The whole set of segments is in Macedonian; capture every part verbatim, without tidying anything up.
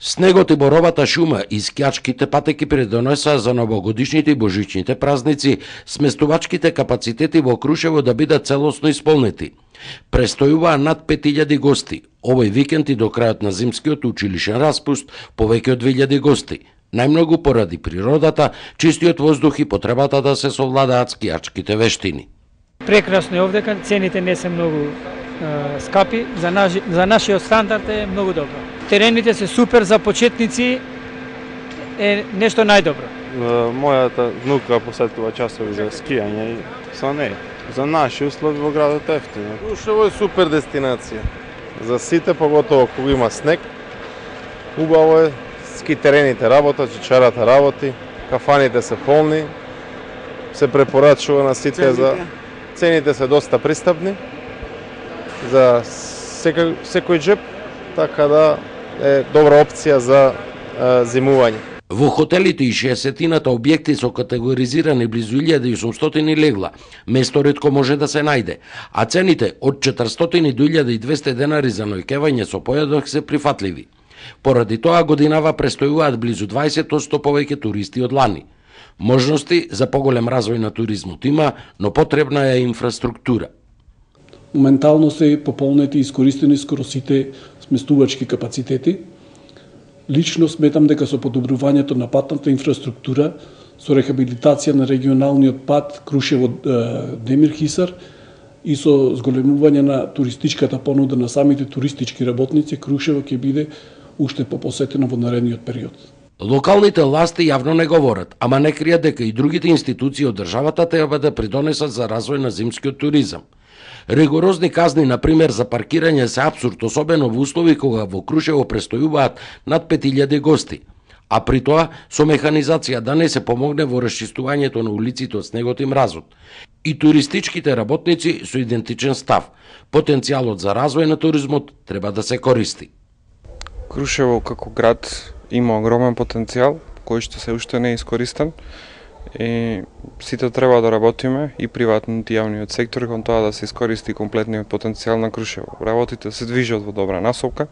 Снегот и боровата шума и скијачките патеки придонесаа за новогодишните и божичните празници, сместувачките капацитети во Крушево да бидат целосно исполнети. Престојуваа над пет илјади гости. Овој викенд и до крајот на зимскиот училишен распуст повеќе од две илјади гости. Најмногу поради природата, чистиот воздух и потребата да се совладаат скијачките вештини. Прекрасно е овдека, цените не се многу е, скапи, за, наш, за нашиот стандард е многу добро. Терените се супер за почетници, е нешто најдобро. Мојата внука посетува часови за скијање и са не. За наши услови во градот е ефтино. Крушево е супер дестинација. За сите, поготово кога има снег, убаво е, ски терените работат, чичарата работи, кафаните се полни, се препорачува на сите. Цените? За цените се доста пристапни за секој, секој джеб, така да е добра опција за е, зимување. Во хотелите и шеесеттината објекти со категоризирани близу илјада и осумстотини легла, место ретко може да се најде, а цените од четиристотини до илјада и двесте денари за ноќевање со појадок се прифатливи. Поради тоа годинава престојуваат близу дваесет одсто повеќе туристи од лани. Можности за поголем развој на туризмот има, но потребна е инфраструктура. Моментално се пополнети и искористени скоро сите сместувачки капацитети. Лично сметам дека со подобрувањето на патната инфраструктура, со рехабилитација на регионалниот пат Крушево-Демир-Хисар и со зголемување на туристичката понуда на самите туристички работници, Крушево ќе биде уште попосетено во наредниот период. Локалните власти јавно не говорат, ама не кријат дека и другите институции од државата треба да придонесат за развој на зимскиот туризам. Ригорозни казни, например, за паркирање се апсурд, особено во услови кога во Крушево престојуваат над пет илјади гости. А при тоа, со механизација да не се помогне во расчистувањето на улиците од снегот и мразот. И туристичките работници со идентичен став. Потенцијалот за развој на туризмот треба да се користи. Крушево како град има огромен потенцијал, кој што се уште не е искористен. И сите треба да работиме, и приватниот и јавниот сектор, кон тоа да се искористи комплетниот потенцијал на Крушево. Работите се движат во добра насока,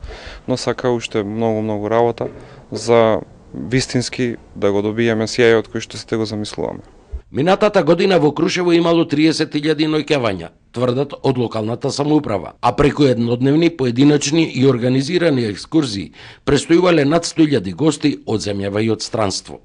но сака уште многу-многу работа за вистински да го добиеме сјајот кој што сите го замислуваме. Минатата година во Крушево имало триесет илјади ноќевања, тврдат од локалната самоуправа, а преку еднодневни, поединечни и организирани екскурзии престојувале над сто илјади гости од земјава и од странство.